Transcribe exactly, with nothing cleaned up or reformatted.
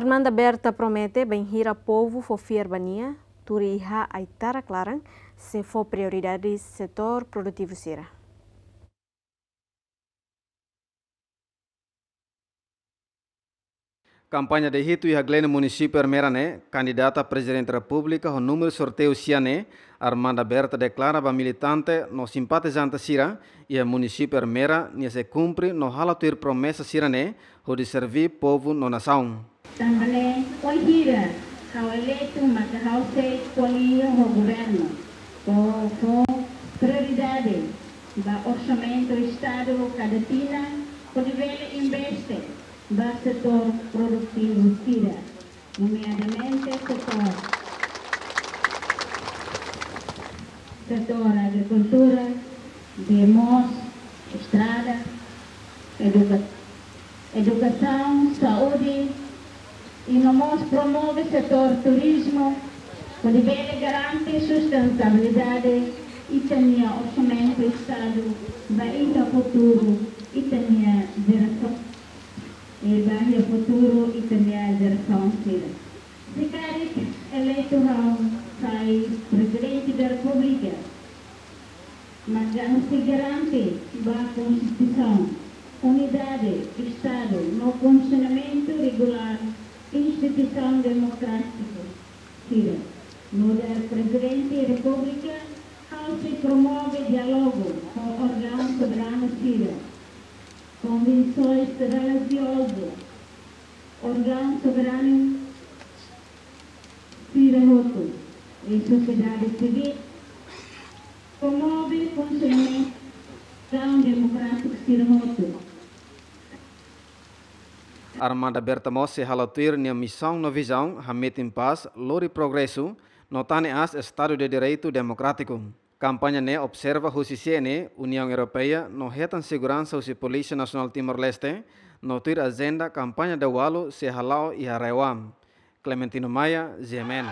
Armanda Berta promete bainhira povu fó fiar ba nia, tuir iha ai-tarak laran, sei fó prioridade setór produtivu sira. Kampaña de hitu iha Gleno, Munisípiu Ermera ne'e, kandidata Prezidente Repúblika ho númeru sorteiu sia ne'e, Armanda Berta deklara ba militante no simpatizante sira iha Munisípiu Ermera, nia sei kumpre no halo tuir promesa sira ne'e, hodi serví povu no nasaun. Tanba ne'e, wainhira ha'u eleitu maka ha'u sei ko'alia ho governu, fó, fó prioridade ba orsamentu Estadu kada tinan, hodi bele investe ba setór produtivu sira, nomeadamente setór, setór agrikultura, bee moos, estrada, eduka-, edukasaun, saúde, i no mós promove setór turizmu, hodi bele garante sustentabilidade ita-nia orsamentu Estadu ba iha futuru ita-nia jerasaun, i ba iha futuru ita-nia jerasaun sira. Se karik eleitu ha'u sai Prezidente da Repúblika, maka ha'u sei garante ba Konstituisaun, unidade Estadu no funsionamentu regulár instituisaun demokrátiku sira. Nu'udar Prezidente Repúblika, ha'u sei promove diálogu ho órgaun soberanu sira, konvensoens relijiozu, órgaun soberanu sira hotu, i sosiedade sivíl, promove funsionamentu órgaun demokrátiku sira hotu. Armanda Berta mós sei halo tuir nia misaun no vizaun, hametin pás, lori progresu, no tane aas Estadu de Direitu Demokrátiku. Kampaña ne'e observa husi C N E, Uniaun Europeia, no hetan seguransa husi Polísia Nasionál Timor-Leste, no tuir ajenda kampaña daudaun sei hala'o iha RAEOA. Clementino Maia, G M N.